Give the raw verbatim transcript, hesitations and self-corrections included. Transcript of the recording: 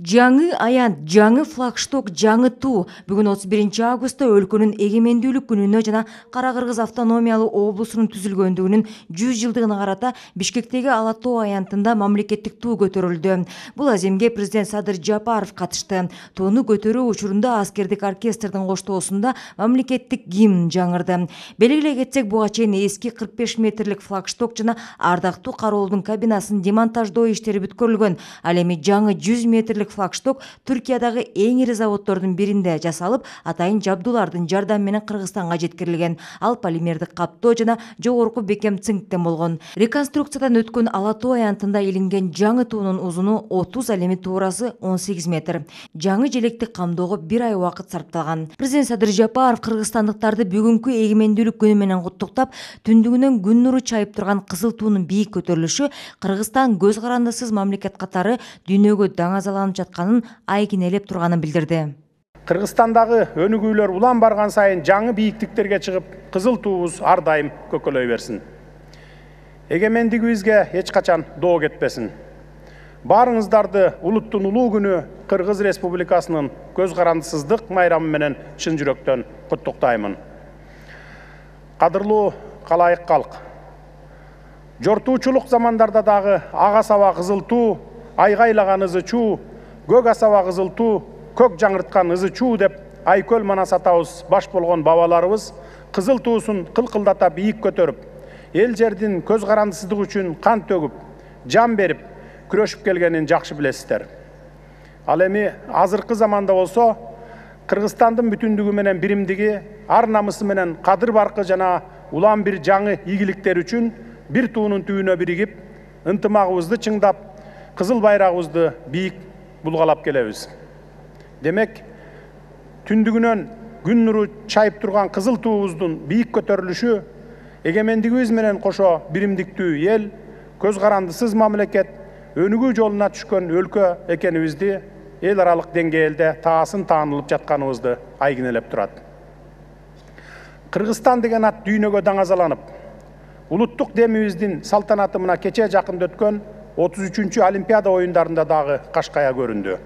Жаңы аянт, жаңы флагшток, жаңы туу. Бүгүн отуз биринчи августта өлкөнүн эгемендүүлүк күнүнө жана Кара Кыргыз автономиялуу облусунун түзүлгөндүгүнүн жүз жылдыгына карата Бишкектеги Ала тоо аянтында мамлекеттик туу көтөрүлдү. Бул аземге президент Садыр Жапаров катышты. Тууну көтөрүү учурунда аскердик оркестрдин коштоосунда мамлекеттик гимн жаңырды. Белгилей кетсек, буга чейин эски кырк беш метрлик флагшток жана ардактуу кароолдун кабинасын демонтаждоо иштери бүткөрүлгөн. Ал эми жаңы жүз метрлик флагшток Түркиядагы эң ири заводдордун биринде жасалып, атайын жабдуулардын жардамы менен Кыргызстанга жеткирилген. Ал полимердик каптоо жана жогорку бекем цинктен болгон. Реконструкциядан өткөн Ала тоо аянтында илинген жаңы туунун узуну отуз, ал эми туурасы он сегиз метр. Жаңы желекти камдоого бир ай убакыт сарпталган. Президент Садыр Жапаров кыргызстандыктарды бүгүнкү эгемендүүлүк күнү менен куттуктап, түндүгүнөн күн нуру чайып турган кызыл туунун бийик көтөрүлүшү Кыргызстан көз карандысыз мамлекет катары дүйнөгө даңазаланып жатканын айкинелеп турганын билдирди. Кыргызстандагы өнүгүүлөр улам барган сайын жаңы бийиктиктерге чыгып, кызыл туубуз ар дайым көкөлөй берсин. Эгемендигибизге эч качан доо кетпесин. Баарыңыздарды улуттун улуу күнү Кыргыз Республикасынын көз карандысыздык майрамы менен чын жүрөктөн куттуктаймын. Кадырлуу калайык калк. Жортуучулук замандарда дагы ага саба кызыл туу, айгайлаган ызы чуу, көк асаба кызыл туу, көк жаңырткан ызы чуу деп Айкөл Манас атабыз баш болгон бабаларыбыз кызыл туусун кылкылдата бийик көтөрүп, эл жердин көз карандысыздыгы үчүн кан төгүп, жан берип, күрөшүп келгенин жакшы билесиздер. Ал эми азыркы заманда болсо, Кыргызстандын бүтүндүгү менен биримдиги, ар намысы менен кадыр баркы жана улам бир жаңы ийгиликтер үчүн бир туунун түбүнө биригип, ынтымагыбызды чыңдап, кызыл байрагыбызды бийик булгалап келебиз. Демек, түндүгүнөн күн нуру чайып турган кызыл туубуздун бийик көтөрүлүшү эгемендигибиз менен кошо биримдиктүү эл, көз карандысыз мамлекет, өнүгүү жолуна түшкөн өлкө экенибизди эл аралык деңгээлде таасын таанылып жатканыбызды айгинелеп турат. Кыргызстан деген ат дүйнөгө даңазаланып, улуттук демибиздин салтанаты мына кече жакында өткөн отуз үчүнчү Олимпиада оюндарында дагы кашкая көрүндү.